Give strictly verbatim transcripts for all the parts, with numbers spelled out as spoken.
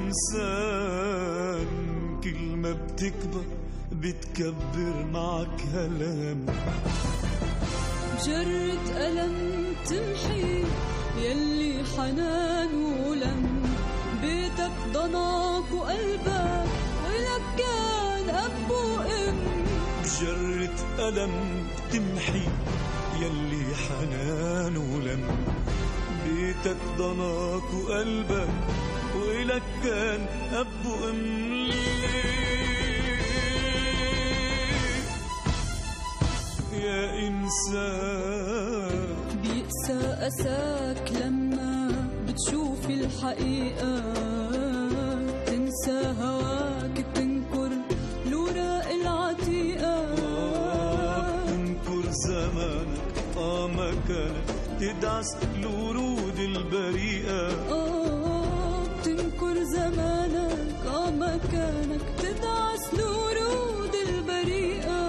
إنسان كل ما بتكبر بتكبر معك هلام. جرة ألم تمحي يلي حنان ولم، بيتك ضناك وقلبك ولك كان أب وأم. بجرة ألم تمحي يلي حنان ولم، بيتك ضناك وقلبك ولك كان أب وأم. يا إنسان بيقسى أساك لما بتشوف الحقيقة، تنسى هواك تنكر الوراق العتيقة. آه تنكر زمانك آه مكانك تدعس الورود البريئة. آه تنكر زمانك آه مكانك تدعس الورود البريئة.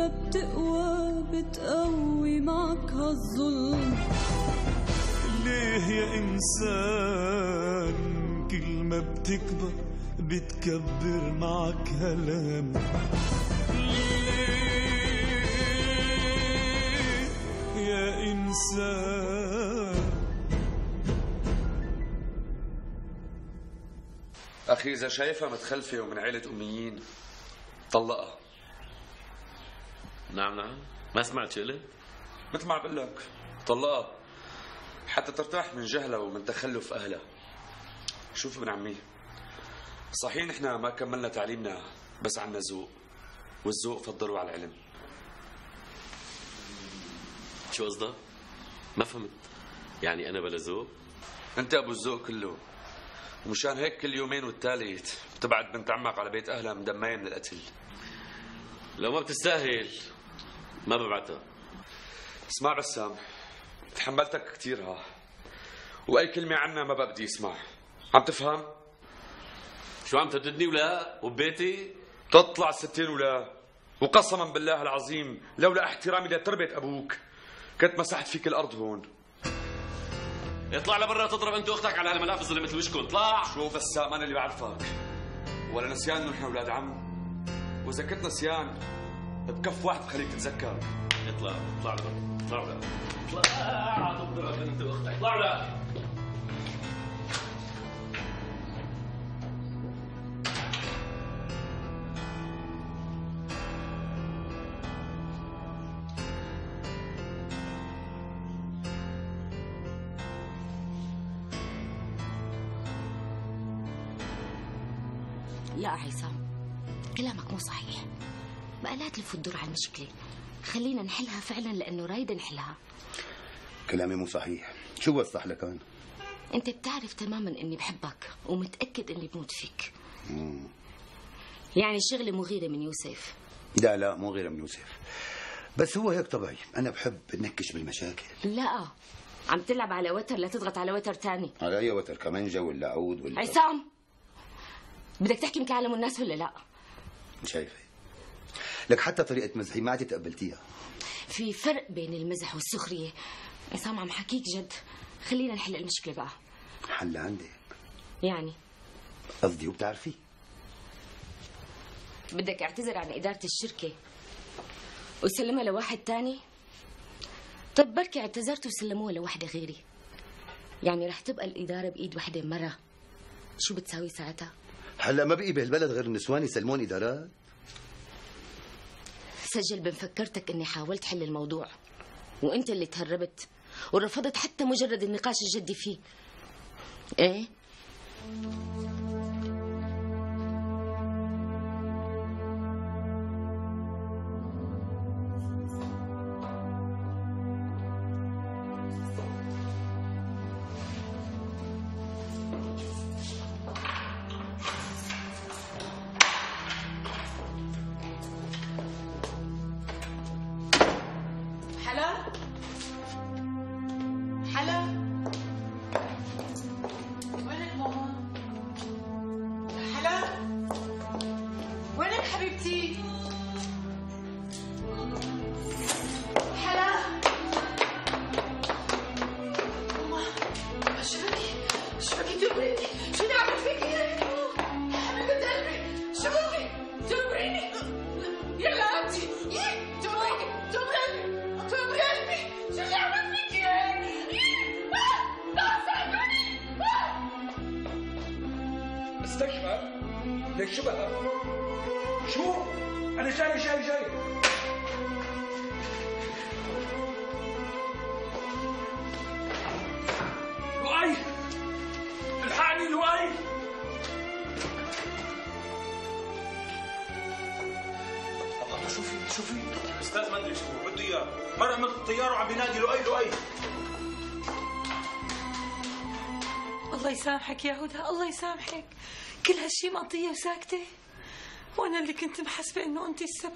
بتقوى بتقوي معك هالظلم. ليه يا إنسان كل ما بتكبر بتكبر معك هلام. ليه يا إنسان. أخي إذا شايفها متخلفة ومن عيلة أميين طلقها. نعم نعم ما سمعت شغلة؟ مثل ما عم بقول لك طلقها حتى ترتاح من جهلها ومن تخلف أهلها. شوف ابن عمي، صحيح نحن ما كملنا تعليمنا بس عنا ذوق، والذوق فضلوا على العلم. شو قصدك؟ ما فهمت. يعني أنا بلا ذوق؟ أنت أبو الذوق كله، ومشان هيك كل يومين والثالث بتبعت بنت عمك على بيت أهلها مدمية من القتل. لو ما بتستاهل ما ببعتها. اسمع بسام، تحملتك كتير ها، وأي كلمة عنا ما بقى بدي اسمع. عم تفهم؟ شو عم ترددني ولا وببيتي؟ تطلع ستين ولا، وقسما بالله العظيم لولا احترامي لتربية أبوك كنت مسحت فيك الأرض هون. اطلع لبرا تضرب أنت وأختك على هالملافظ اللي مثل وشكم. اطلع. شو بسام أنا اللي بعرفك، ولا نسيان نحن أولاد عم، وإذا كنت نسيان بكف واحد بخليك تتذكر. اطلع اطلع لبرا اطلع ولا اطلع تضرب أنت وأختك. اطلع ولا. لا عصام، كلامك مو صحيح. بقى لا تلف الدور على المشكلة، خلينا نحلها فعلا لأنه رايدة نحلها. كلامي مو صحيح. شو وضح لك أنا؟ أنت بتعرف تماما إني بحبك ومتأكد إني بموت فيك. مم. يعني شغلة مو غيرة من يوسف. لا لا مو غيرة من يوسف، بس هو هيك طبيعي. أنا بحب نكش بالمشاكل. لا عم تلعب على وتر، لا تضغط على وتر تاني. على أي وتر؟ كمانجا ولا عود ولا؟ عصام بدك تحكي مكالم الناس ولا لا؟ شايفة لك حتى طريقة مزحي ما عاد تقبلتيها. في فرق بين المزح والسخرية. عصام عم حكيك جد، خلينا نحل المشكلة بقى. حل عندك يعني قصدي وبتعرفي بدك اعتذر عن إدارة الشركة وسلمها لواحد تاني؟ طيب بركي اعتذرت وسلموها لوحدة غيري، يعني رح تبقى الإدارة بإيد وحدة مرة. شو بتساوي ساعتها؟ هلا ما بقي بهالبلد غير النسوان يسلمون إدارات. سجل بمفكرتك اني حاولت حل الموضوع وانت اللي تهربت ورفضت حتى مجرد النقاش الجدي فيه. ايه حبيبتي. حلا شو بكي؟ شو بكي تبريني؟ شو اللي عملت فيكي هيك؟ يا حبيبة قلبي شو بكي؟ تبريني؟ يلا انتي تبريني تبريني تبري قلبي شو اللي عملت فيكي هيك؟ لا ساعدوني. استشفى ليك شو بقى؟ شو؟ أنا جاي جاي جاي. لؤي الحقني لؤي. الله شو في شو في؟ استاذ ما ادري شو بده اياه، مرة عملت الطيارة وعم بينادي لؤي لؤي. الله يسامحك يا هدى، الله يسامحك. كل هالشي مقضية وساكتة، وانا اللي كنت محسبة انه انت السبب.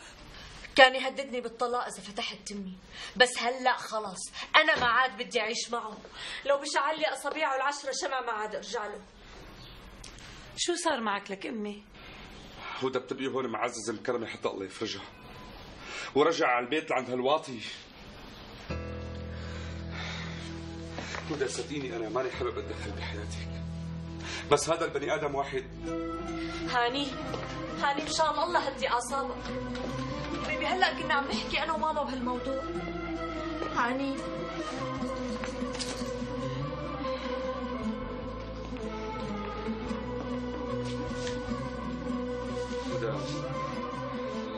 كان يهددني بالطلاق اذا فتحت تمي، بس هلا خلص انا ما عاد بدي اعيش معه. لو بشعل لي اصابيعه العشره شمع ما عاد ارجع له. شو صار معك لك امي؟ هدى بتبقي هون معزز مكرمه حتى الله يفرجها، ورجع على البيت لعند هالواطي. هدى صدقيني انا ماني حابب اتدخل بحياتك، بس هذا البني ادم واحد. هاني هاني مشان الله هدي اعصابك حبيبي، هلا كنا عم نحكي انا وماما بهالموضوع. هاني هدى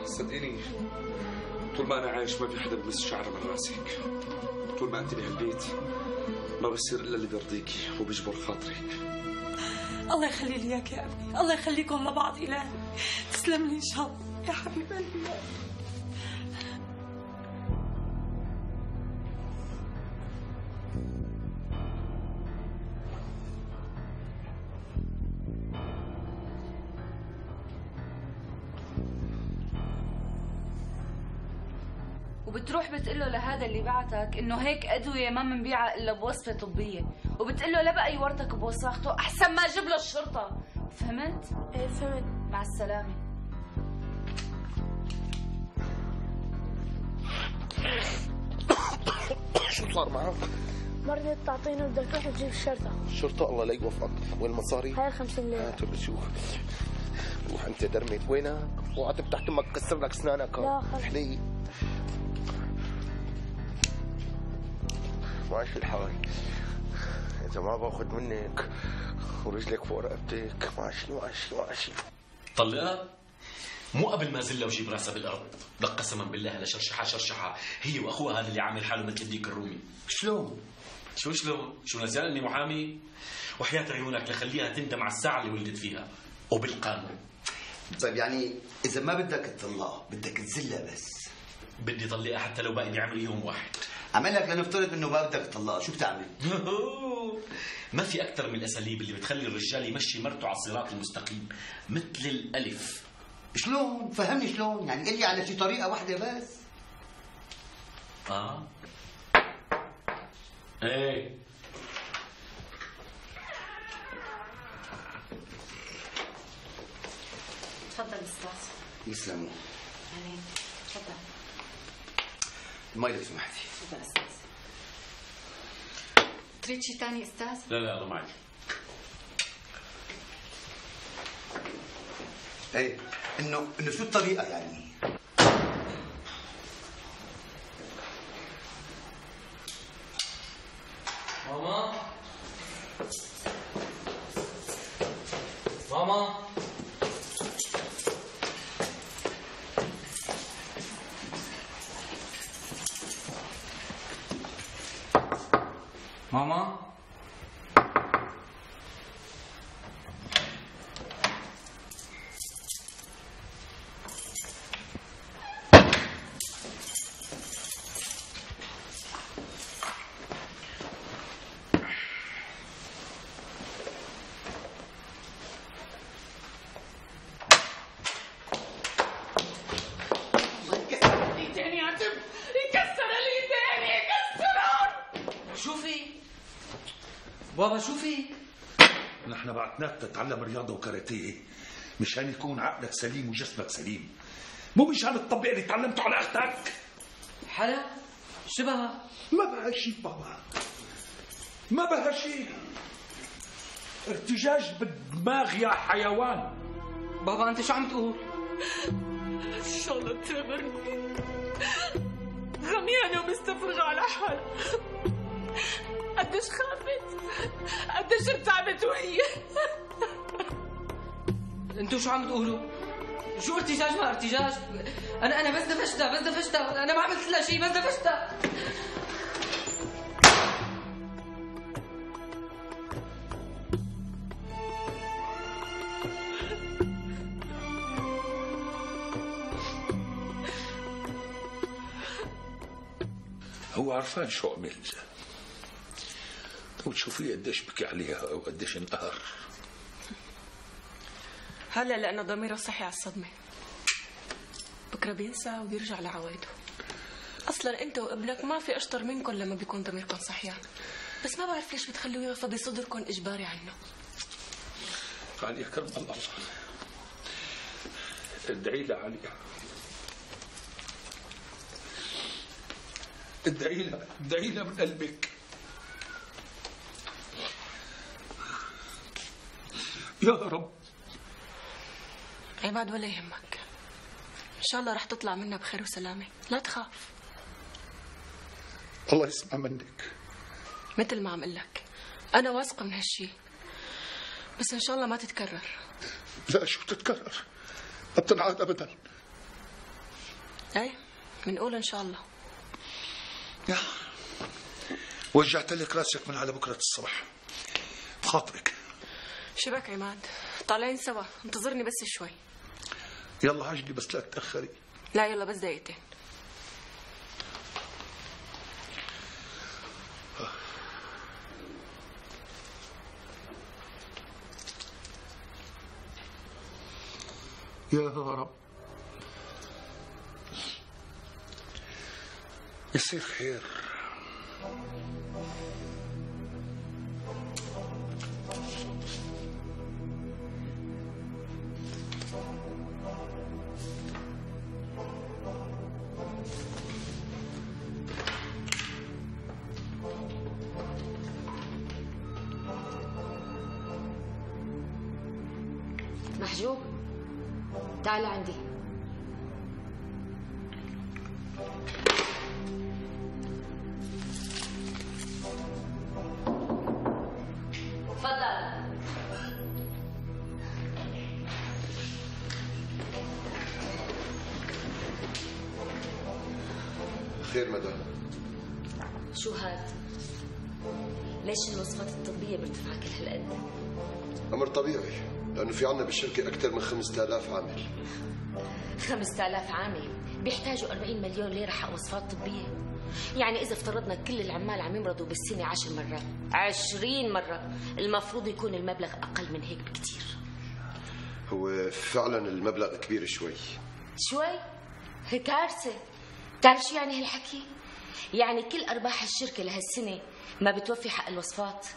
صدقيني طول ما انا عايش ما في حدا بمس شعره من راسك. طول ما انت بهالبيت ما بصير الا اللي بيرضيكي وبيجبر خاطرك. الله يخلي لي اياك يا ابني، الله يخليكم لبعض. الهي تسلم لي ان شاء الله يا حبيب قلبي. وبتروح بتقله لهذا اللي بعتك انه هيك ادويه ما منبيعها الا بوصفه طبيه، وبتقله لا بقى يورطك بوساخته احسن ما اجيب له الشرطه. فهمت؟ ايه فهمت. مع السلامه. شو صار معك؟ مرضت تعطيني بدك تروح تجيب الشرطه. الشرطة الله لا يوفقك. وين المصاري؟ هاي الخمسين ليره. هاتوا بشوف. روح انت درمت وينك؟ وقعدت تحت امك كسر لك اسنانك. لا خلص. حلي ماشي الحال. اذا ما باخذ منك ورجلك فوق رقبتك ماشي ماشي ماشي. طلقها؟ مو قبل ما زلها وجيب راسها بالارض. لك قسما بالله لشرشحه شرشحه هي واخوها هذا اللي عامل حاله مثل الديك الرومي. شلون؟ شو شلون؟ شو نسيان اني محامي؟ وحياة عيونك لخليها تندم على الساعة اللي ولدت فيها وبالقانون. طيب يعني اذا ما بدك تطلقها بدك تزلها بس. بدي طلقها حتى لو باقي بعمل يوم واحد. عمل لك لنفترض انه ما بدك تطلقها، شو بتعمل؟ ما في اكثر من الاساليب اللي بتخلي الرجال يمشي مرته على الصراط المستقيم، مثل الالف. شلون؟ فهمني شلون؟ يعني قل لي على شي طريقه واحده بس. اه ايه تفضل استاذ. يسلموا. يعني تفضل. المي لو سمحتي. تفضل استاذ. تريد شي ثاني استاذ؟ لا لا الله معي. ايه انه انه شو الطريقه يعني؟ ماما ماما ماما بابا شو في؟ نحن بعتناك تتعلم رياضة وكاراتيه، مشان يكون عقلك سليم وجسمك سليم، مو مشان الطبيعي اللي تعلمته على اختك. حلا شو بها؟ ما بها شيء بابا، ما بها شيء. ارتجاج بالدماغ يا حيوان. بابا انت شو عم تقول؟ ان شاء الله تامرني، غميانه ومستفرغه على حالها. قديش خافت، قديش ارتعبت وهي. انتوا شو عم تقولوا؟ شو ارتجاج ما ارتجاج؟ انا انا بس دفشتها بس دفشتها، انا ما عملت لها شيء بس دفشتها. هو عرفان شو عمل، وتشوفيه قديش بكي عليها وقديش انقهر. هلا لانه ضميره صحي على الصدمه، بكره بينسى وبيرجع لعوايده. اصلا انت وابنك ما في اشطر منكم لما بيكون ضميركم صحيان، بس ما بعرف ليش بتخلوه يرفض صدركم اجباري عنه. عليا كرم الله، ادعي لها عليا، ادعي لها، ادعي لها من قلبك. يا رب. عماد ولا يهمك، ان شاء الله رح تطلع منا بخير وسلامه، لا تخاف. الله يسمع منك. مثل ما عم قل لك انا واثقه من هالشي، بس ان شاء الله ما تتكرر. لا شو تتكرر؟ ما بتنعاد ابدا. ايه بنقول ان شاء الله. يا وجعت لك راسك من على بكره الصبح بخاطرك. شبك عماد، طالعين سوا، انتظرني بس شوي. يلا عجلي بس لا تأخري. لا يلا بس دقيقتين. يا رب يصير خير. محجوب تعال عندي. تفضل. خير مدام. شو هاد؟ ليش الوصفات الطبية بارتفاع كل هالقد؟ أمر طبيعي، لأنه في عنا بالشركة أكثر من خمسة آلاف عامل. خمسة آلاف عامل بيحتاجوا أربعين مليون ليرة حق وصفات طبية. يعني إذا افترضنا كل العمال عم يمرضوا بالسنة عشر مرات، عشرين مرة، المفروض يكون المبلغ أقل من هيك بكتير. هو فعلا المبلغ كبير شوي. شوي؟ هي كارثة. بتعرف شو يعني هالحكي؟ يعني كل أرباح الشركة لهالسنة ما بتوفي حق الوصفات.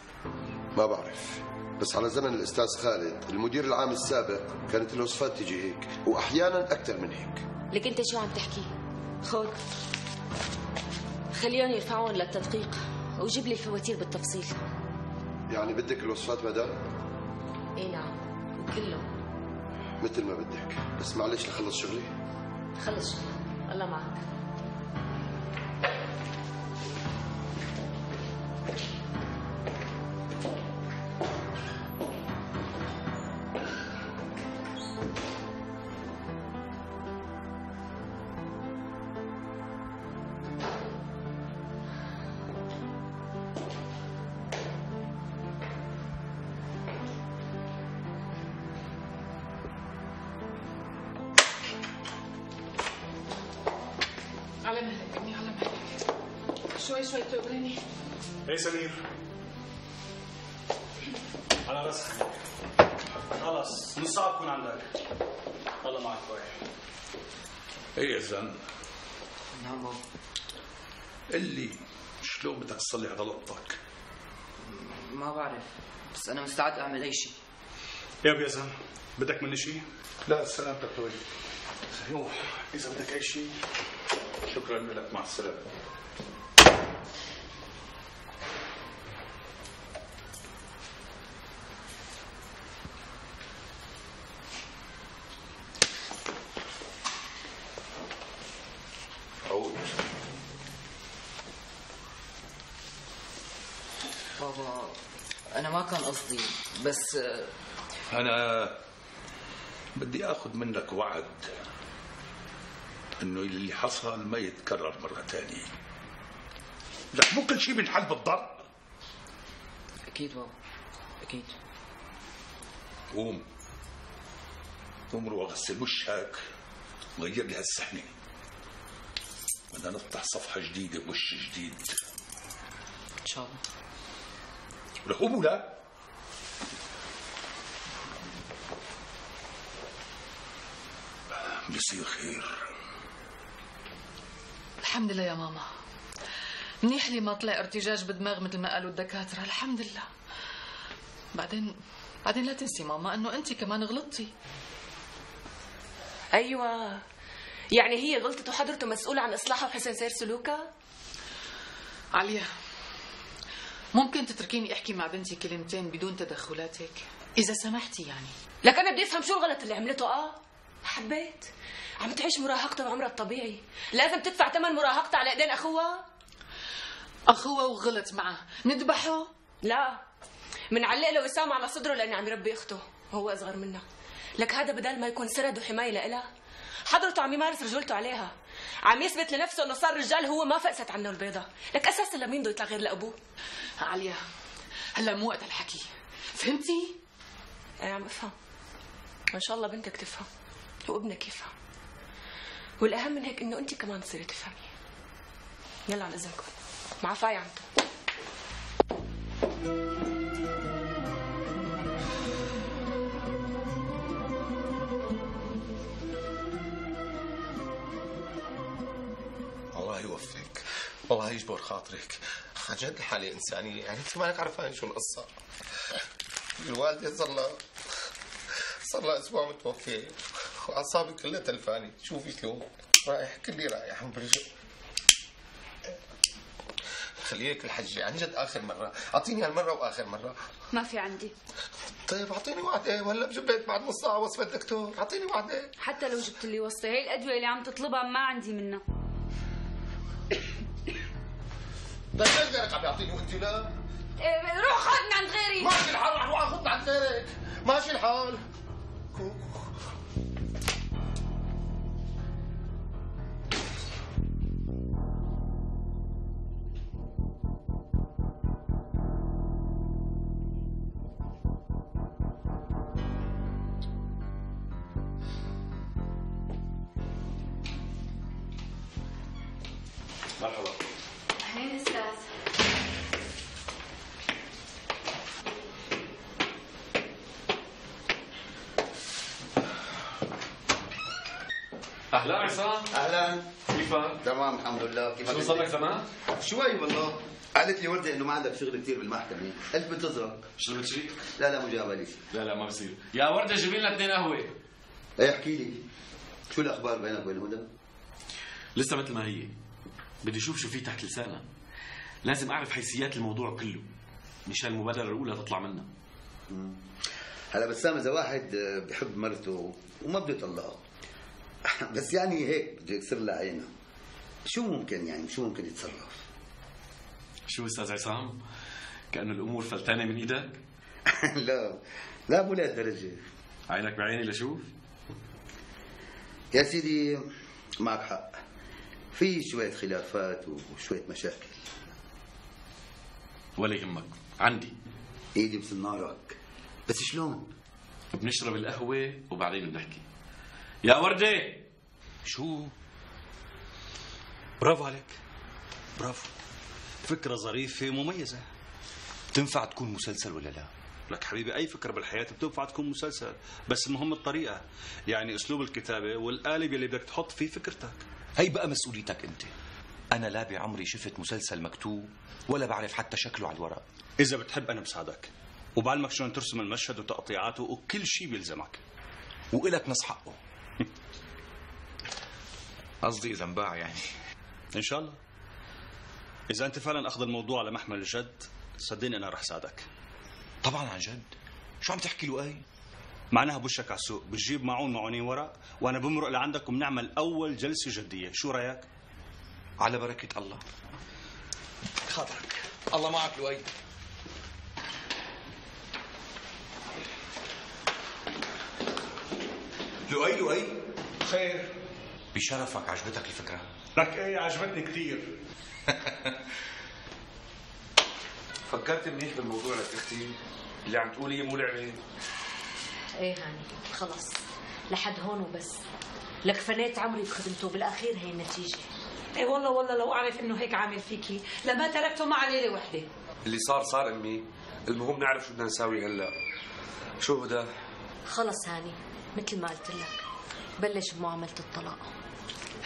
ما بعرف، بس على زمن الأستاذ خالد المدير العام السابق كانت الوصفات تيجي هيك، وأحيانا أكثر من هيك. لك أنت شو عم تحكي؟ خذ خليهم يرفعون للتدقيق وجيب لي الفواتير بالتفصيل. يعني بدك الوصفات مدام؟ اي نعم، وكلهم. مثل ما بدك، بس معلش لخلص شغلي. خلص شغلك، الله معك. على مهلك ابني، على مهلك. شوي شوي تقبريني. ايه سمير، على راسك. خلص نص ساعة بكون عندك. الله معك شوي. ايه يا زلمة. نعم بابا. اللي شلون بدك تصلي على لقطك؟ ما بعرف، بس أنا مستعد أعمل أي شيء. يا بيزن بدك مني شيء؟ لا سلامتك طويل. يوه إذا بدك أي شيء شكرا لك، مع السلامة. عود. بابا أنا ما كان قصدي، بس أنا بدي أخذ منك وعد إنه اللي حصل ما يتكرر مرة ثانية. لك مو كل شيء بنحل بالضرب. أكيد بابا أكيد. قوم قوم روح غسل وشك وغير لي هالسحنة، بدنا نفتح صفحة جديدة بوش جديد إن شاء الله. ولك قوم ولا بيصير خير. الحمد لله يا ماما، منيح لي ما طلع ارتجاج بالدماغ مثل ما قالوا الدكاترة، الحمد لله. بعدين بعدين لا تنسي ماما انه انت كمان غلطتي. ايوه يعني هي غلطت وحضرته مسؤولة عن اصلاحها وحسن سير سلوكها؟ عليا ممكن تتركيني احكي مع بنتي كلمتين بدون تدخلاتك اذا سمحتي يعني؟ لك انا بدي افهم شو الغلط اللي عملته. اه حبيت عم تعيش مراهقتها وعمرها الطبيعي، لازم تدفع ثمن مراهقتها على ايدين اخوها. اخوها وغلط معه نذبحه؟ لا منعلق له وسام على صدره لانه عم يربي اخته وهو اصغر منها. لك هذا بدل ما يكون سرد وحمايه لإلها، حضرته عم يمارس رجولته عليها، عم يثبت لنفسه انه صار رجال هو ما فقست عنه البيضه. لك اساسا لمين بده يطلع غير لابوه؟ عليا هلا مو وقت الحكي، فهمتي؟ انا عم افهم، وان شاء الله بنتك تفهم وابنك يفهم، والاهم من هيك انه انت كمان تصيري تفهمي. يلا عن اذنكم، مع فاي عمتو. الله يوفقك، والله يجبر خاطرك. عن جد حالة إنسانية، يعني أنت مالك عرفان شو القصة. الوالدة صار لها صار لها أسبوع متوفية وأعصابي كلها تلفانة. شوفي شلون رايح، كلي رايح برجع. خليك الحجة عن جد آخر مرة، أعطيني هالمرة وآخر مرة. ما في عندي. طيب أعطيني وعدة، وهلا بجيب بعد نص ساعة وصفة الدكتور، أعطيني وعدة. حتى لو جبت لي وصفة، هي الأدوية اللي عم تطلبها ما عندي منها. طيب ليش غيرك عم يعطيني وانت لا؟ إيه روح خذ من عند غيري. ماشي الحال، رح اروح اخذ من عند غيرك، ماشي الحال. مرحبا. أهلين أستاذ. اهلا عصام. اهلا. كيفك؟ تمام الحمد لله. كيفك؟ شو صار لك زمان؟ شوي والله. قالت لي وردة انه ما عندك شغل كثير بالمحكمة، قلت بنتظرك. شربت شيء؟ لا لا مو جايبه لي شيء. لا لا ما بصير. يا وردة جيبي لنا اثنين قهوة. ايه احكي لي شو الاخبار بينك وبين هدى؟ لسه مثل ما هي. بدي اشوف شو في تحت لسانها. لازم اعرف حيثيات الموضوع كله مشان المبادرة الأولى تطلع منا. هلا بسام اذا واحد بحب مرته وما بده يطلقها بس يعني هيك بده يكسر لها عينها، شو ممكن يعني شو ممكن يتصرف؟ شو استاذ عصام؟ كأنه الامور فلتانة من ايدك؟ لا لا مو لهالدرجة. عينك بعيني لشوف؟ يا سيدي معك حق، في شوية خلافات وشوية مشاكل. ولا يهمك، عندي ايدي مثل نارك، بس شلون؟ بنشرب القهوة وبعدين بنحكي. يا وردة. شو؟ برافو عليك، برافو، فكرة ظريفة مميزة. تنفع تكون مسلسل ولا لا؟ لك حبيبي أي فكرة بالحياة بتنفع تكون مسلسل، بس المهم الطريقة، يعني أسلوب الكتابة والقالب اللي بدك تحط فيه فكرتك. هي بقى مسؤوليتك أنت. أنا لا بعمري شفت مسلسل مكتوب ولا بعرف حتى شكله على الورق. إذا بتحب أنا بساعدك. وبعلمك شلون ترسم المشهد وتقطيعاته وكل شيء بيلزمك. وإلك نص حقه. قصدي إذا انباع يعني. إن شاء الله. إذا أنت فعلا أخذ الموضوع على محمل الجد صدقني أنا رح ساعدك. طبعا عن جد. شو عم تحكي له أي؟ معناها بوشك على السوق، بتجيب معون معونين ورق وأنا بمرق لعندك وبنعمل أول جلسة جدية، شو رأيك؟ على بركة الله. خاطرك. الله معك لؤي. لؤي لؤي. خير. بشرفك عجبتك الفكرة؟ لك ايه عجبتني كثير. فكرت منيح بالموضوع لك اختي؟ اللي عم تقولي مو لعبه. ايه هاني خلص لحد هون وبس. لك فنيت عمري بخدمته بالاخير هي النتيجه. ايه والله والله لو اعرف انه هيك عامل فيكي لما تركته مع ليله وحده. اللي صار صار امي، المهم نعرف شو بدنا نساوي هلا. شو هدى؟ خلص هاني مثل ما قلت لك بلش بمعامله الطلاق.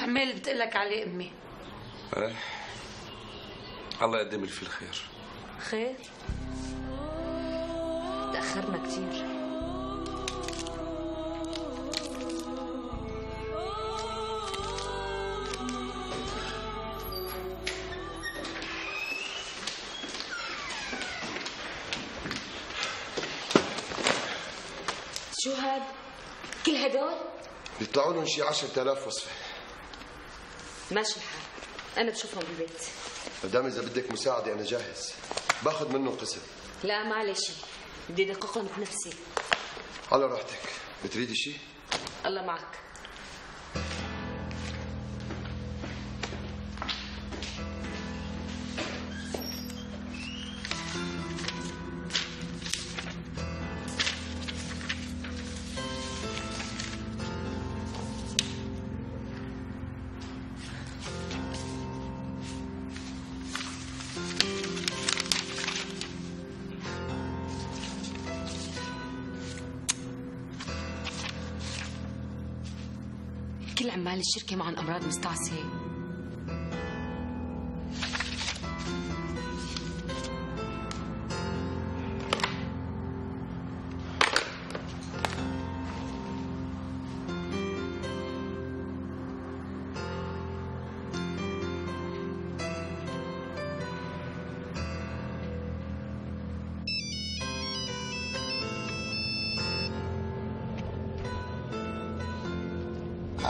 عمال بتقول لك عليه امي. ايه الله يقدم لي فيه الخير. خير؟ تاخرنا كثير. شو هاد؟ كل هدول؟ بيطلعوا لهم شي عشرة آلاف وصفة. ماشي الحال، أنا بشوفهم بالبيت. مدام إذا بدك مساعدة أنا جاهز، باخذ منه قسم. لا ما علي شيء، بدي أدققهم بنفسي. على راحتك، بتريدي شي؟ الله معك. كل عمال الشركة معهم أمراض مستعصية.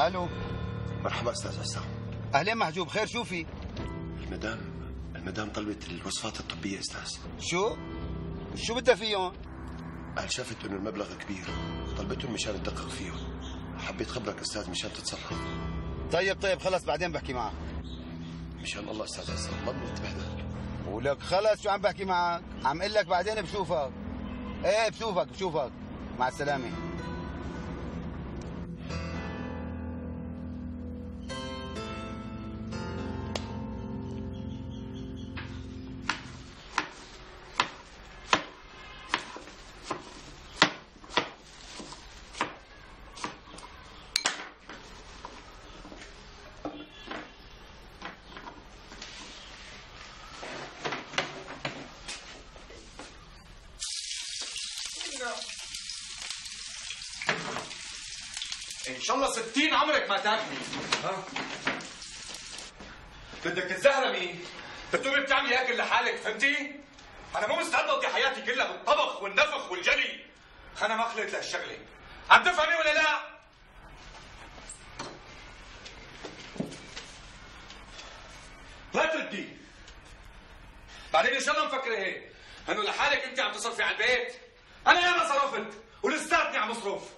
الو. مرحبا استاذ عصام. اهلين محجوب، خير شو في؟ المدام المدام طلبت الوصفات الطبية استاذ. شو؟ شو بدها فيهم؟ قال شافت انه المبلغ كبير، طلبتهم مشان تدقق فيهم. حبيت خبرك استاذ مشان تتصرف. طيب طيب خلص بعدين بحكي معك. مشان الله استاذ عصام ما بدنا نتبهدل. ولك خلص شو عم بحكي معك؟ عم اقول لك بعدين بشوفك. ايه بشوفك بشوفك. مع السلامة. ان شاء الله ستين عمرك ما تاكلي. ها؟ بدك تتزهرمي، بتقومي بتعملي اكل لحالك، فهمتي؟ انا مو مستعد اقضي حياتي كلها بالطبخ والنفخ والجلي. انا ما خلقت لهالشغله. عم تفهمي ولا لا؟ لا تردي. بعدين ان شاء الله مفكره هيك انه لحالك انت عم تصرفي على البيت. انا ياما صرفت ولساتني عم اصرف.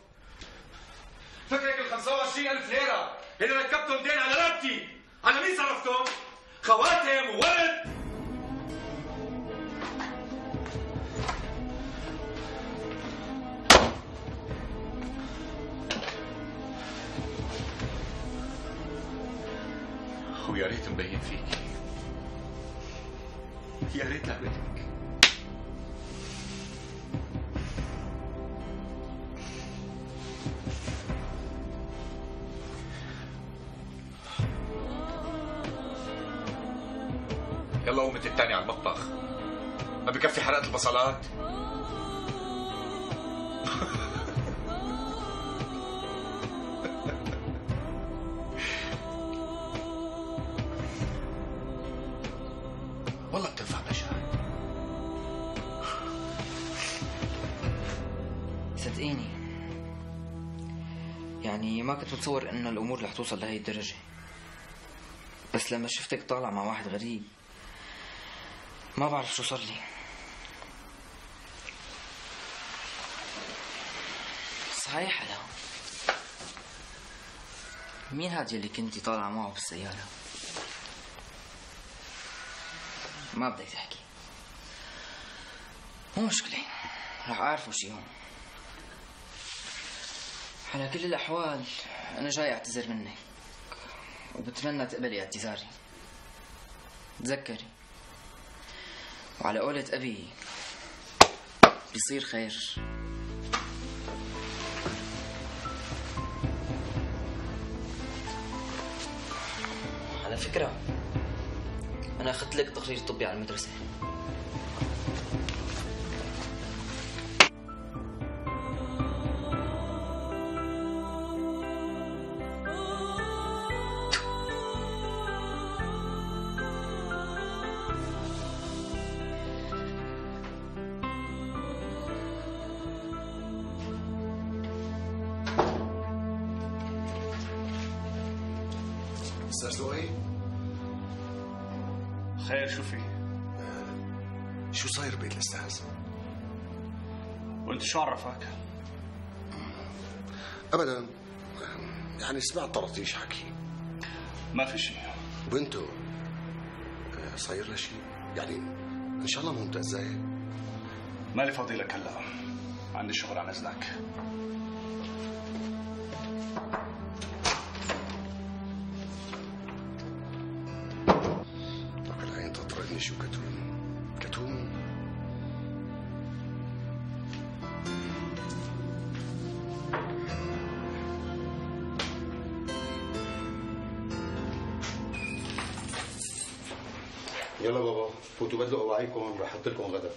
فكرك ال خمسة وعشرين ألف ليرة اللي ركبتهم دين على رقبتي، على مين صرفتهم؟ خواتم وورد. ويا ريت مبين فيكي، يا ريت لعبتك. يلا قومت الثاني على المطبخ. ما بكفي حرقة البصلات؟ يعني ما كنت متصور انه الامور رح توصل لهي الدرجة. بس لما شفتك طالع مع واحد غريب ما بعرف شو صار لي. صحيح هلا، مين هاد يلي كنتي طالعة معه بالسيارة؟ ما بدك تحكي، مو مشكلة، رح أعرفه شي يوم. على كل الأحوال أنا جاي أعتذر منك وبتمنى تقبلي اعتذاري. تذكري، وعلى قولة أبي بيصير خير. على فكرة أنا أخذت لك تقرير طبي على المدرسة. استاذ لؤي، خير شو في؟ شو صاير بيت الاستاذ؟ وانت شو عرفك؟ ابدا، يعني سمعت طرطيش حكي. ما في شيء. بنته صاير لها شيء؟ يعني ان شاء الله مو متأذية؟ مالي فاضي لك هلا، عندي شغل عن اذنك. شو كتوم كتوم يلا بابا فوتوا بدلوا اواعيكم، رح احط لكم غدا.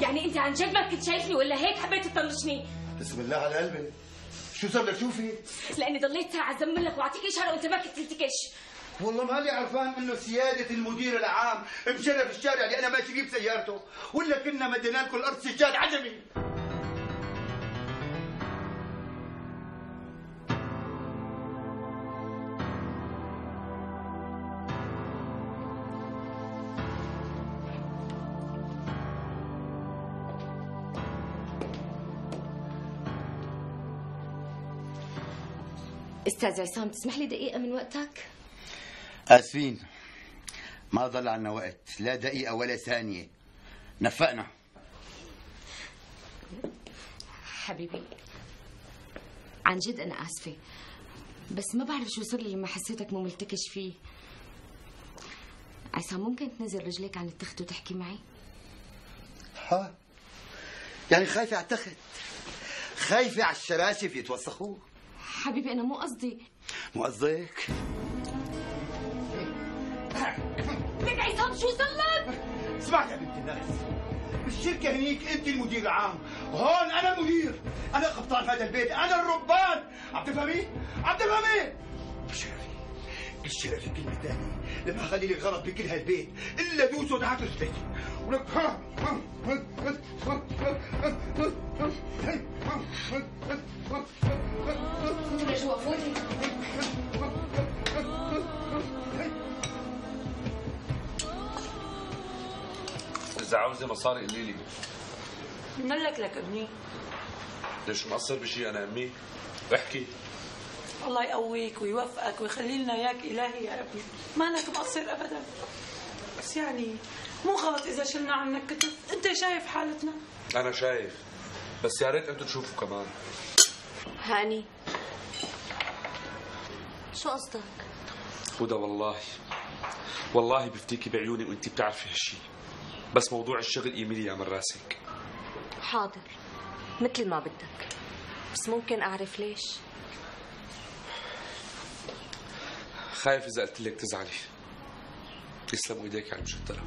يعني انت عن جد ما كنت شايفني ولا هيك حبيت تطنشني؟ بسم الله على قلبي، شو صار لك؟ شو في؟ لاني ضليت ساعه زمن لك واعطيك اشاره وانت ما كنت تلتكش. والله مالي عرفان انه سياده المدير العام مشرف الشارع اللي انا ماشي فيه بسيارته، ولا كنا مدينا لكم الارض سجاد عجمي. استاذ عصام تسمح لي دقيقه من وقتك؟ اسفين، ما ضل عنا وقت، لا دقيقه ولا ثانيه، نفقنا. حبيبي عن جد انا اسفه، بس ما بعرف شو صار لي لما حسيتك مو ملتكش فيه. عصام ممكن تنزل رجليك عن التخت وتحكي معي؟ ها يعني خايفه على التخت؟ خايفه على الشراشف يتوسخوا؟ حبيبي انا مو قصدي. مو قصدك؟ لك عصام شو صار لك؟ اسمع يا بنت الناس، بالشركة هنيك انت المدير العام، هون انا المدير، انا قبطان هذا البيت، انا الربان، عم تفهمي؟ عم تفهمي؟ بشرفي بشرفي كلمة ثانية، لما اخلي لك غلط بكل هالبيت الا دوسه تحت رجليك، ولك لجوا فوتي. إذا عاوزة مصاري قولي لي. منلك لك ابني. ليش مقصر بشي أنا أمي؟ احكي. الله يقويك ويوفقك ويخلي لنا إياك إلهي يا ربي، مالك مقصر أبدا. بس يعني مو غلط إذا شلنا عنك كتف، أنت شايف حالتنا. أنا شايف، بس يا ريت أنتوا تشوفوا كمان. هاني شو قصدك؟ هدى والله والله بفتيكي بعيوني وانت بتعرفي هالشي، بس موضوع الشغل ايميليا من راسك. حاضر مثل ما بدك، بس ممكن اعرف ليش؟ خايف اذا قلت لك تزعلي. يسلموا ايديك على المشترى.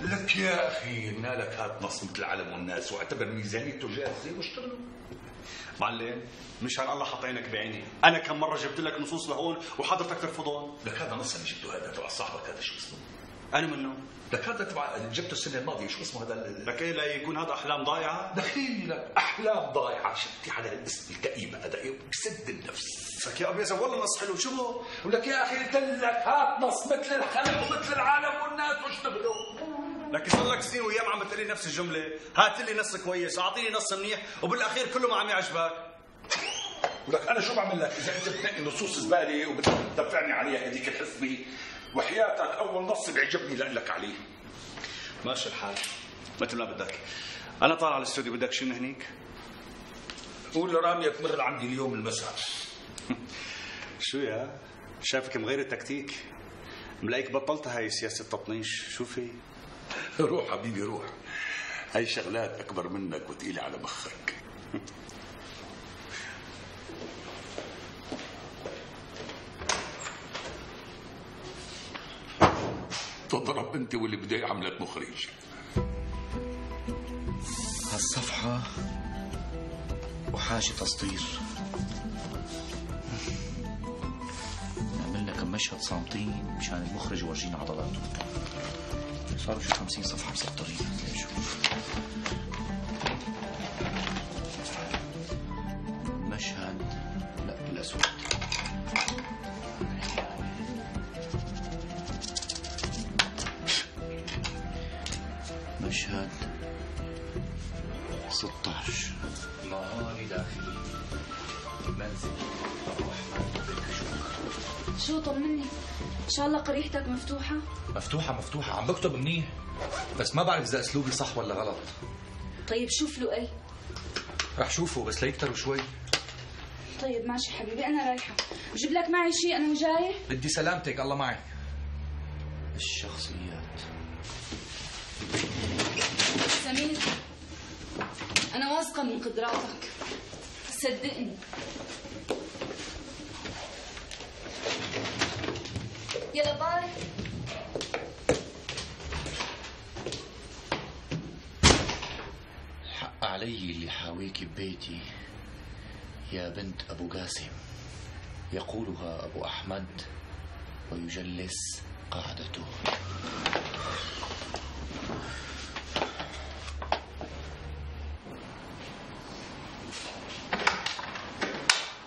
لك يا اخي مالك هات نص مثل العالم والناس واعتبر ميزانيته جاهزه واشتغلوا. معلم مشان الله حط عينك بعيني، انا كم مره جبت لك نصوص لهون وحضرتك ترفضهم. لك هذا نص اللي جبته هذا تبع صاحبك هذا شو اسمه؟ انا منه. لك هذا تبع جبته السنه الماضيه شو اسمه هذا؟ لك ايه لا يكون هذا احلام ضايعه؟ دخيلي لك احلام ضايعه شفتي على الاسم الكئيب هذا ايه بسد النفس. لك يا ابيض والله نص حلو شو هو؟ ولك يا اخي قلت لك هات نص مثل الخلق ومثل العالم والناس واشتغلوا. لك صار لك سنين وياه عم تقول لي نفس الجمله، هات لي نص كويس، اعطيني نص منيح وبالاخير كله ما عم يعجبك. ولك انا شو بعمل لك اذا انت بتنقي نصوص زباله وبتدفعني عليها هذيك الحسبه وحياتك اول نص بيعجبني لك عليه. ماشي الحال مثل ما بدك. انا طالع على الاستوديو، بدك شيء من هنيك؟ قول لرامية تمر عندي اليوم المساء. شو يا شايفك مغير التكتيك، ملاقيك بطلت هاي سياسه التطنيش. شو في؟ روح حبيبي روح، هاي شغلات اكبر منك وثقيله على مخك. تضرب انت واللي بدي عملت مخرج. هالصفحة وحاجة تسطير. نعملنا كم مشهد صامتين مشان المخرج يورجينا عضلاته. صاروا شي خمسين صفحة مسطرين. نشوف مشهد لا بالأسود. مشهد ستة عشر. نهاري داخلي منزل أبو أحمد بالكشوك. شو طمني، ان شاء الله قريحتك مفتوحة؟ مفتوحة مفتوحة، عم بكتب منيح، بس ما بعرف إذا أسلوبي صح ولا غلط. طيب شوف له اي. رح شوفه بس ليكتروا شوي. طيب ماشي حبيبي، أنا رايحة، بجيب لك معي شيء أنا وجاية؟ بدي سلامتك الله معك. الشخصيات. سمير أنا واثقة من قدراتك، صدقني. يلا باي. حق علي اللي حاويك ببيتي يا بنت أبو قاسم، يقولها أبو أحمد ويجلس قاعدته.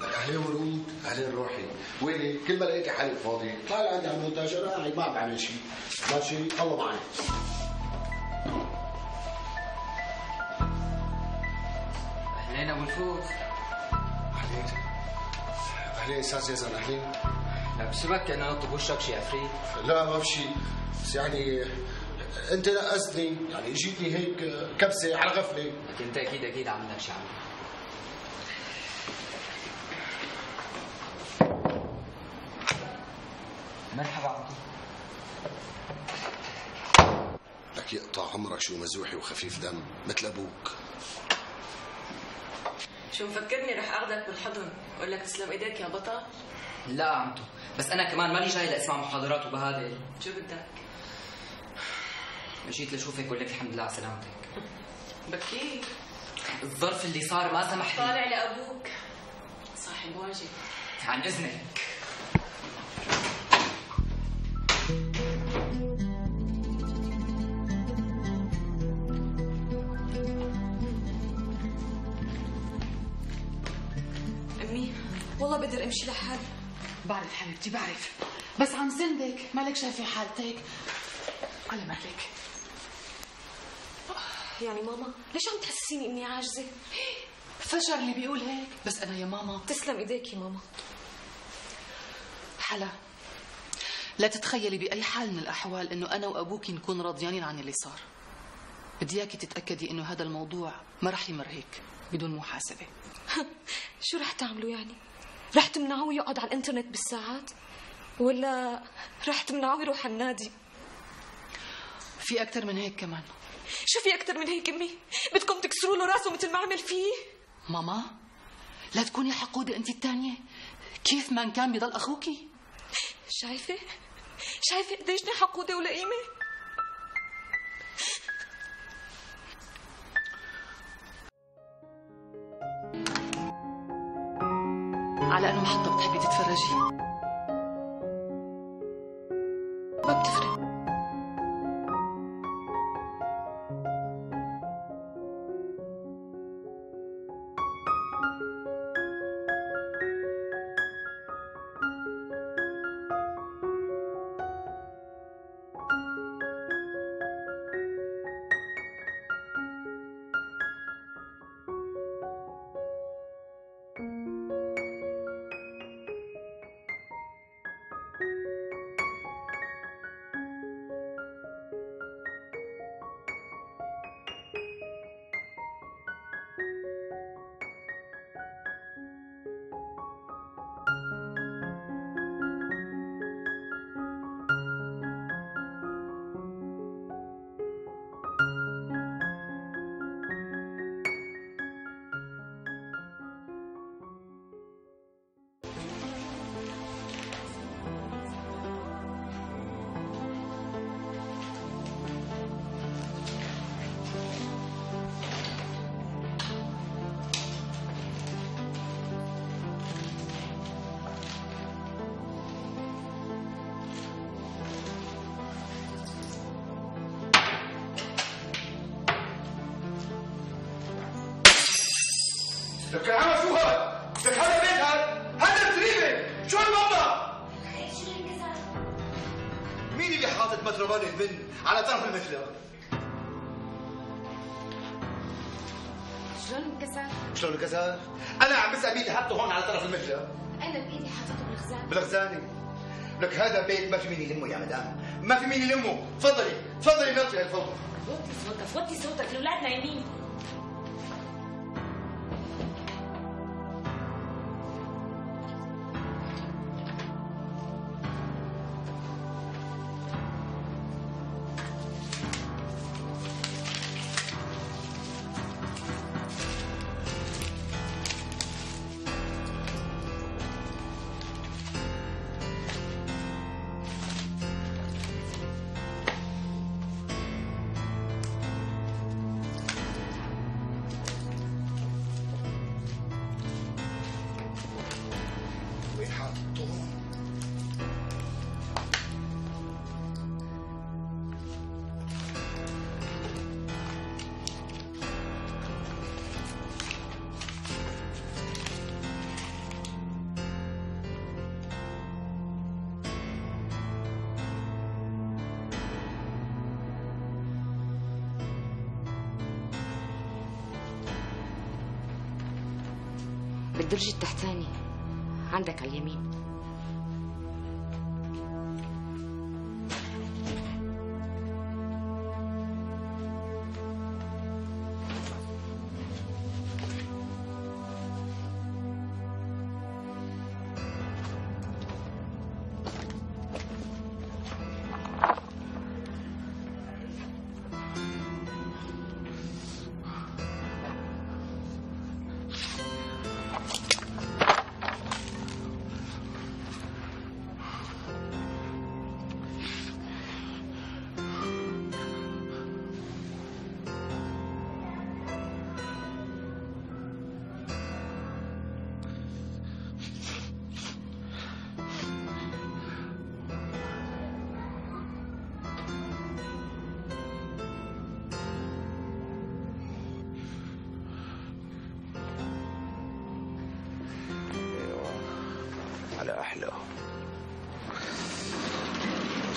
أهلين ورود، أهلين روحي، ويني؟ كل ما لقيتي حالي فاضي، طالع عندي على المونتاج، أنا قاعد ما عم بعمل شيء، ماشي؟ الله معي. أهلين أبو الفوز. أهلين. أهلين أستاذ يزن، أهلين. لا بسبك كأنه نط بوشك شي عفريت. لا ما بشي، بس يعني أنت نقصتني، يعني جيتني هيك كبسة على غفلة. لكن أنت أكيد أكيد عم لك شي عمل. مرحبا عمتي. لك يقطع عمرك شو مزوحي وخفيف دم مثل أبوك. شو مفكرني رح اخذك بالحضن واقول لك تسلم ايديك يا بطل؟ لا عمتو، بس انا كمان مالي جاي لاسمع محاضرات وبهادل. شو بدك؟ جيت لشوفك واقول لك الحمد لله على سلامتك. بكير الظرف اللي صار ما سمح لي. طالع لابوك صاحب واجب. عن اذنك. والله بقدر امشي لحالي. بعرف حبيبتي بعرف، بس عم سندك، مالك شايفه حالتك على مهلك. يعني ماما ليش عم تحسسيني اني عاجزه؟ فشر اللي بيقول هيك، بس انا يا ماما. تسلم ايديك يا ماما. حلا لا تتخيلي باي حال من الاحوال انه انا وابوك نكون راضيانين عن اللي صار. بدي اياكي تتاكدي انه هذا الموضوع ما رح يمر هيك بدون محاسبه. شو رح تعملوا يعني؟ رح تمنعوه يقعد على الانترنت بالساعات؟ ولا رح تمنعوه يروح على النادي؟ في اكثر من هيك كمان. شو في أكثر من هيك أمي؟ بدكم تكسروا له راسه مثل ما عمل فيه؟ ماما لا تكوني حقودة أنت الثانية، كيف ما كان بيضل أخوكي. شايفة؟ شايفة قديش حقودة ولئيمة؟ على أنه محطة بتحبي تتفرجي؟ ما بتفرق. لك يا عم شو هاد؟ لك هذا بيت هاد؟ هذا الزريبة، شو هالوضع؟ مين اللي حاطط متربان البن على طرف المثلى؟ شلون انكسر؟ شلون انكسر؟ أنا عم بسأل مين اللي حطه هون على طرف المثلى؟ أنا بإيدي حاطته بالخزانة. بالخزانة؟ لك هذا بيت ما في مين يلمه يا مدام، ما في مين يلمه، تفضلي، تفضلي نطلعي الفوضى. وطي صوتك، وطي صوتك، الأولاد نايمين. وين حاطه؟ بالدرج التحتاني عندك على اليمين. على أحلى.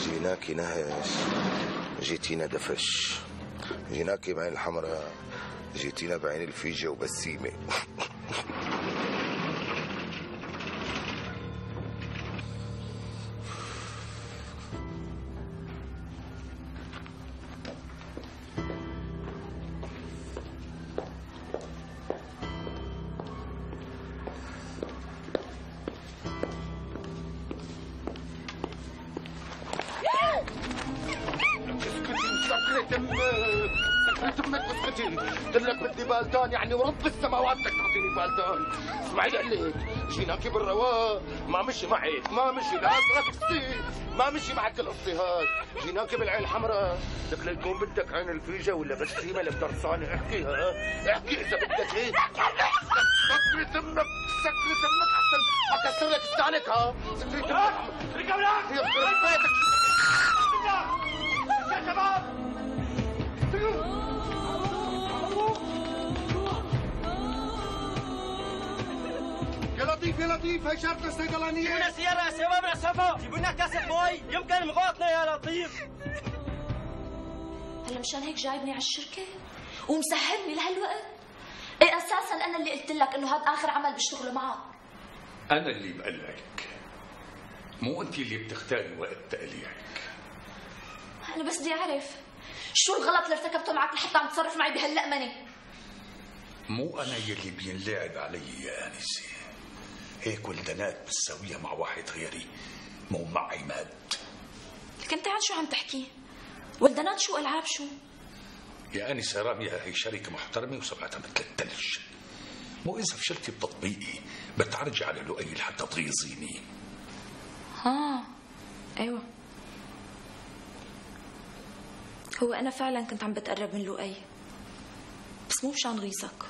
جيناكي نهش، جيتينا دفش، جيناكي بعين الحمراء، جيتينا بعين الفيجة وبسيمة. اسكتي مسكرة دمك. حياة امك اسكتي. قلت لك بدي بالتان يعني ورب السماوات بدك تعطيني بالتان. اسمعي لي قلت جيناكي بالرواق ما مشي معك ما مشي لا تغطسي ما مشي معك القصي هاد. جيناكي بالعين الحمراء لك ليكون بدك عين الفيجة ولا بسيمة لك درسانة. احكي ها احكي اذا بدك هيك. سكري تمك سكري تمك احسن اكسر لك استانك. ها سكري تمك رجالك يخرب بيتك يا شباب. يا لطيف يا لطيف هي شرطة الصيدلانية. جيبوا لنا سيارة يا شباب يا صفا. جيبوا لنا كاسة مي يمكن مغاطنا يا لطيف. هلا مشان هيك جايبني على الشركة ومسهلني لهالوقت؟ ايه اساسا انا اللي قلت لك انه هذا اخر عمل بشتغله معك. انا اللي بقلعك مو انت اللي بتختاري وقت تقليعك. انا بس بدي اعرف شو الغلط اللي ارتكبته معك لحتى عم تصرف معي بهاللقمنه؟ مو انا يلي بينلعب علي يا انسه. هيك ولدنات بتساويها مع واحد غيري مو مع عماد. لك انت عن شو عم تحكي؟ ولدنات شو العاب شو؟ يا انسه رامية هي شركه محترمه وسمعتها مثل الثلج. مو اذا فشلتي بتطبيقي بتعرجي على لؤي لحتى تغيظيني. ها ايوه هو انا فعلا كنت عم بتقرب من لؤي بس مو مشان غيظك،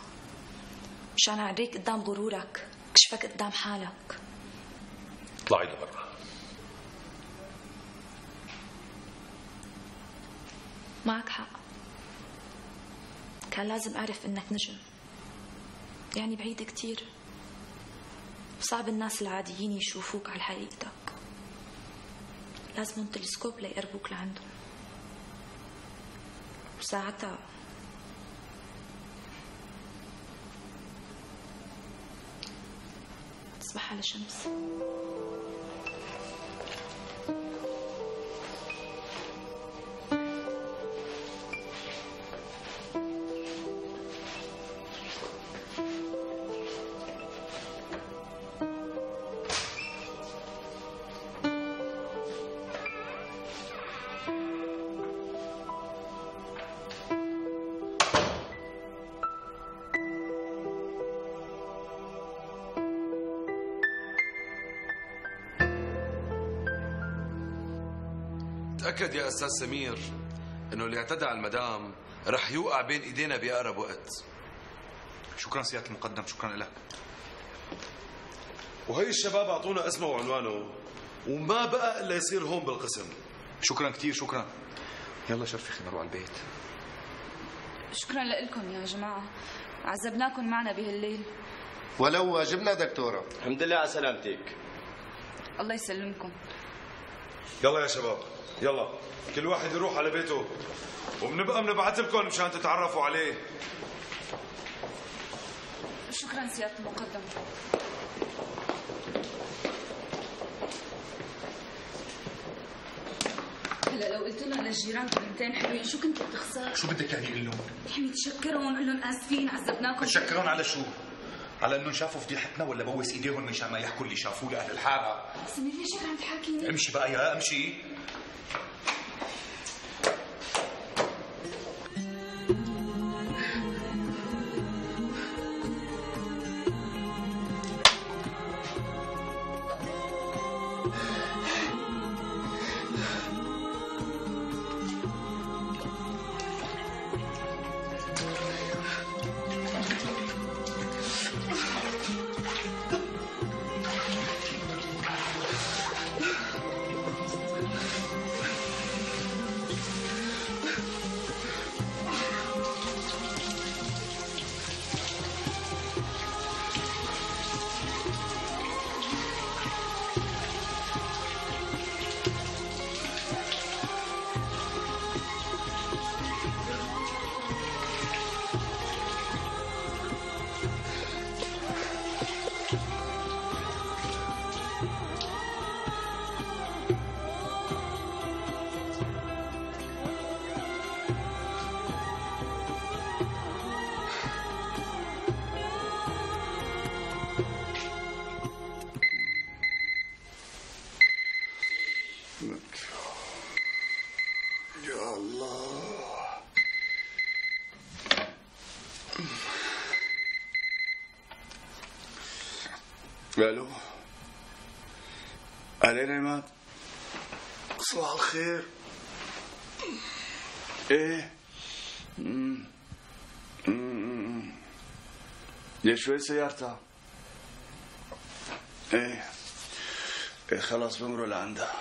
مشان اعريك قدام غرورك كشفك قدام حالك. اطلعي لبرا. معك حق، كان لازم اعرف انك نجم، يعني بعيد كتير وصعب الناس العاديين يشوفوك على حقيقتك، لازمهم تلسكوب ليقربوك لعندهم، وساعتها تصبح على شمس. تأكد يا أستاذ سمير إنه اللي اعتدى على المدام رح يوقع بين إيدينا بأقرب وقت. شكرا سيادة المقدم، شكرا لك. وهي الشباب أعطونا اسمه وعنوانه وما بقى إلا يصير هون بالقسم. شكرا كثير شكرا. يلا شرفي خلينا نروح على البيت. شكرا لكم يا جماعة، عذبناكم معنا بهالليل. ولو واجبنا دكتورة. الحمد لله على سلامتك. الله يسلمكم. يلا يا شباب يلا كل واحد يروح على بيته وبنبقى بنبعث لكم مشان تتعرفوا عليه. شكرا سيادة المقدم. هلا لو قلت لهم للجيران كلمتين حلوين شو كنت بتخسر؟ شو بدك يعني اقول لهم؟ يعني تشكرهم قول لهم اسفين عذبناكم. تشكرهم على شو؟ على انهم شافوا فضيحتنا ولا بوس ايديهم مشان ما يحكوا اللي شافوه لاهل الحاره؟ سمير ليش هيك عم تحاكيني؟ امشي بقى يا امشي. الو اهلين عماد، صباح الخير. ايه امم امم ليش وين سيارتها؟ ايه ايه خلاص بمروا لعندها،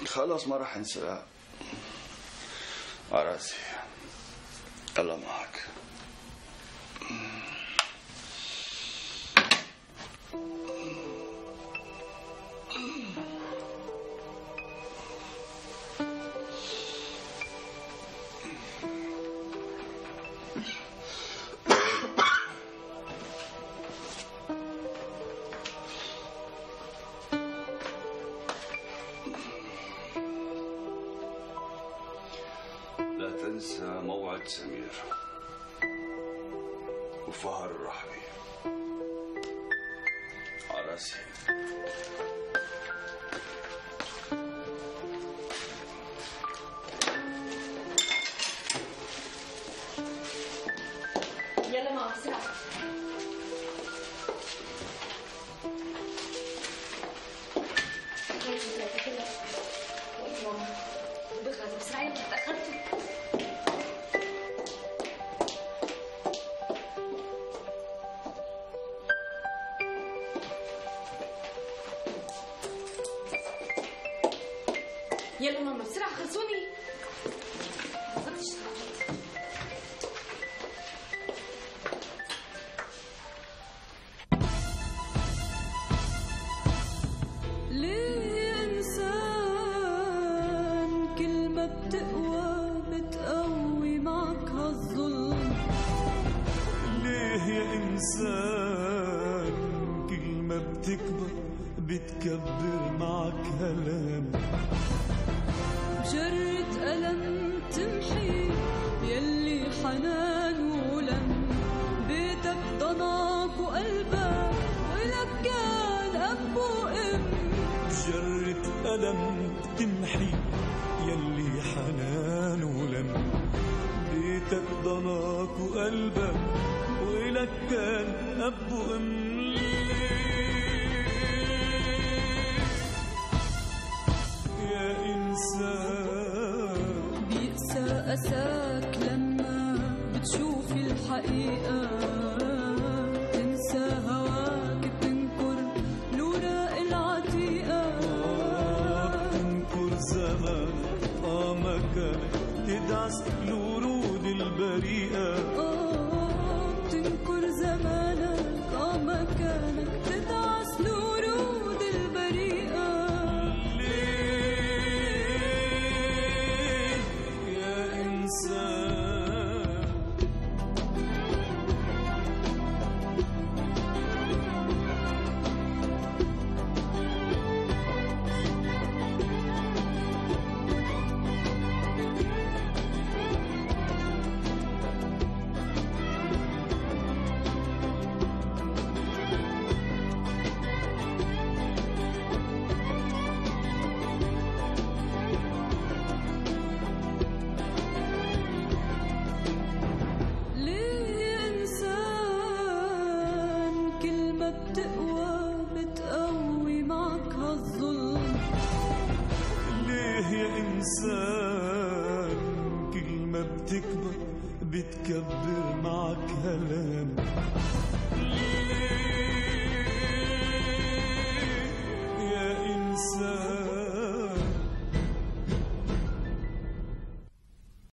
خلاص ما راح انساها. عراسي الله معك. لا تنسى موعد سمير وفهر الرحبي. عراسي يلا ماما بسرعة. بغلط بسرعة يلا تأخرتي. يلا ماما بسرعة خلصوني. بالضبط اشتغلت. ليه إنسان كل ما بتقوى بتقوي معك هالظلم؟ ليه يا إنسان كل ما بتكبر بتكبر معك هلام؟ بجرة ألم تمحي يلي حنان ولم، بيتك ضناك وقلبك ولك كان أب وأم. بجرة ألم تمحي يلي حنان ولم، بيتك ضناك وقلبك ولك كان أب وأم. يا إنسان بيقسى أساك لما بتشوف الحقيقة، تنسى هواك بتنكر الوراق العتيقة. بتنكر زمان آه مكانك تدعس الورود البريئة. آه بتنكر زمانك آه مكانك تدعس الورود البريئة. يا إنسان ليه إنسان كل ما بتقوى بتقوي معك هالظلم؟ ليه يا إنسان كل ما بتكبر بتكبر معك هلام؟ ليه